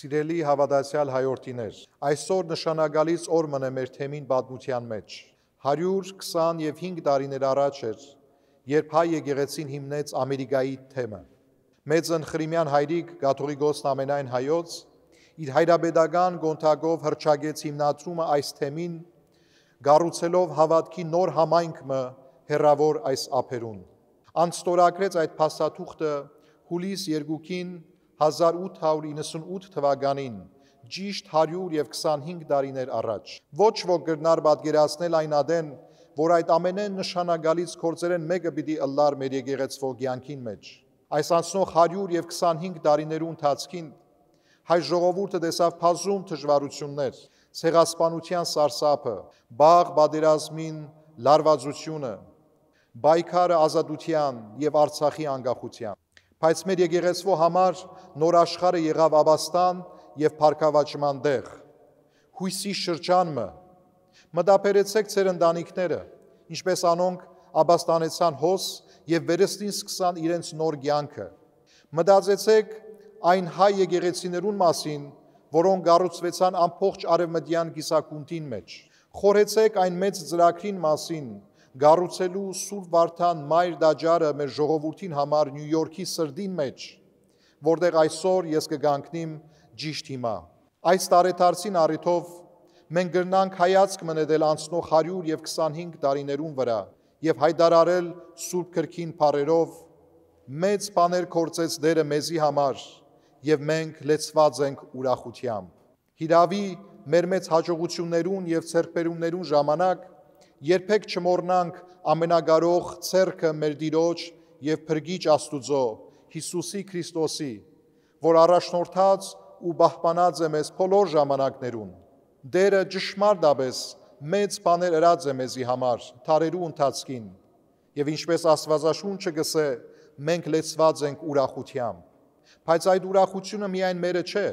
Սիրելի հավատացյալ հայորդիներ, այսօր նշանագալից օր մնե մեր թեմին պատմության մեջ։ 125 տարիներ առաջ էր, երբ հայ եկեղեցին հիմնեց Ամերիկայի թեմը։ Մեծն Խրիմյան հայրիկ Կաթողիկոսն ամենայն հայոց իր հայրապետական գոնթակով հռչակեց հիմնադրումը այս թեմին, գառուցելով հավատքի նոր համայնքը հեռավոր այս ափերուն։ Անստորագրեց այդ փաստաթուղթը հուլիս 2-ին 1898 թվականին, ճիշտ 125 տարիներ առաջ։ Ոչ ոք կրնար պատկերացնել այն ադեն, որ այդ ամենեն նշանագալից գործերեն մեկը պիտի ըլլար մեր եկեղեցվո կյանքին մեջ։ Այս անցնող 125 տարիներու ընթացքին հայ ժողովուրդը տեսավ բազում դժվարություններ, ցեղասպանության սարսափը, բաղ պատերազմին լարվածությունը, պայքարը ազատության եւ Արցախի անկախության։ Բայց մեր եկեղեցվո համար նոր աշխարհը եղավ աբաստան եւ փառքավաճման տեղ։ Հույսի շրջանը մտաբերեցեք ձեր ընտանիքները, ինչպես անոնք աբաստանեցան հոս եւ վերստին սկսան իրենց նոր կյանքը։ Մտածեցեք այն հայ եկեղեցիներուն մասին, որոնք կառուցվեցան ամբողջ արևմտյան կիսակունդին մեջ։ Խորհեցեք այն մեծ ծրագրին մասին, կառուցելու Սուրբ Վարդան մայր տաճարը մեր ժողովրդին համար Նյու Յորքի սրտին մեջ, որտեղ այսօր ես կգանքնիմ ճիշտ հիմա։ Այս տարեդարձին առիթով մենք կրնանք հայացք մնետել անցնող 125 տարիներուն վրա եւ հայտարարել Սուրբ Գրքին բառերով մեծ բաներ կործեց Տերը մեզի համար եւ մենք լեցված ենք ուրախությամբ։ Հիրավի մեր մեծ հաջողություններուն եւ ցերկբերումներուն ժամանակ երբեք չմոռնանք ամենակարող ցերկը մեր Տիրոջ եւ Փրկիչ Աստուծո Հիսուսի Քրիստոսի, որ առաջնորդած ու պահպանած է մեզ բոլոր ժամանակներուն։ Տերը ճշմարտապես մեծ բաներ ըրած է մեզի համար թարերու ընթացքին եւ ինչպես Աստվածաշունչը գսե մենք լեցված ենք ուրախությամբ։ Բայց այդ ուրախությունը միայն մերը չէ,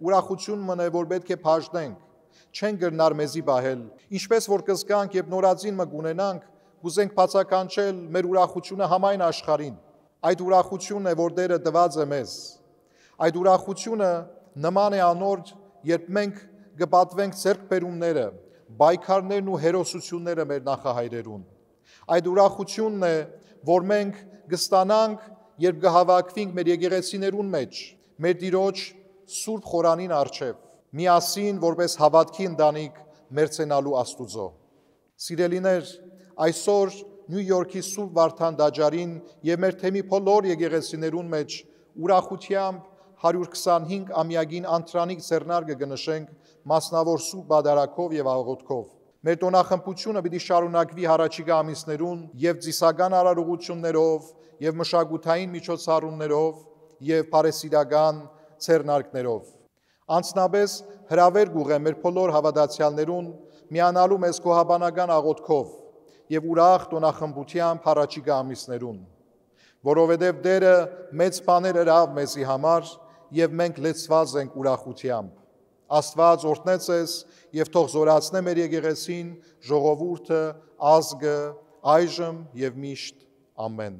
ուրախություն մնե որ պետք է բաժնենք, չեն գրնար մեզի բահել, ինչպես որ կզգանք եւ նորածին մը գունենանք, կուզենք բացականչել մեր ուրախությունը համայն աշխարհին։ Այդ ուրախությունն է, որ Տերը տված է մեզ։ Այդ ուրախությունը նման է անոր, երբ մենք կպատվենք ցերկբերումները, պայքարներն ու հերոսությունները մեր նախահայրերուն։ Այդ ուրախությունն է, որ մենք կստանանք, երբ կհավաքվենք մեր եկեղեցիներուն մեջ, մեր Տիրոջ Սուրբ խորանին առջև, միասին որպես հավատքի ընտանիք մերձենալու Աստուծո։ Սիրելիներ, այսօր Նյու Յորքի Սուրբ Վարդան տաճարին եւ մեր թեմի բոլոր եկեղեցիներուն մեջ ուրախությամբ 125 ամյակին անտրանիկ ձեռնարկը կնշենք մասնավոր Սուրբ Պատարագով եւ աղոթքով։ Մեր տոնախմբությունը պիտի շարունակվի հառաջիկա ամիսներուն եւ ծիսական արարողություններով եւ մշակութային միջոցառումներով եւ բարեսիրական ձեռնարկներով։ Անցնաբես հրավեր գուղեմ մեր բոլոր հավատացյալներուն միանալու մեզ գոհաբանական աղոթքով եւ ուրախ տոնախմբությամբ հառաջիկա ամիսներուն, որովհետեւ Տերը մեծ բաներ ըրավ մեզի համար եւ մենք լեցված ենք ուրախությամբ։ Աստված օրհնե ձեզ եւ թող զորացնե մեր եկեղեցին, ժողովուրդը, ազգը, այժմ եւ միշտ։ Ամեն։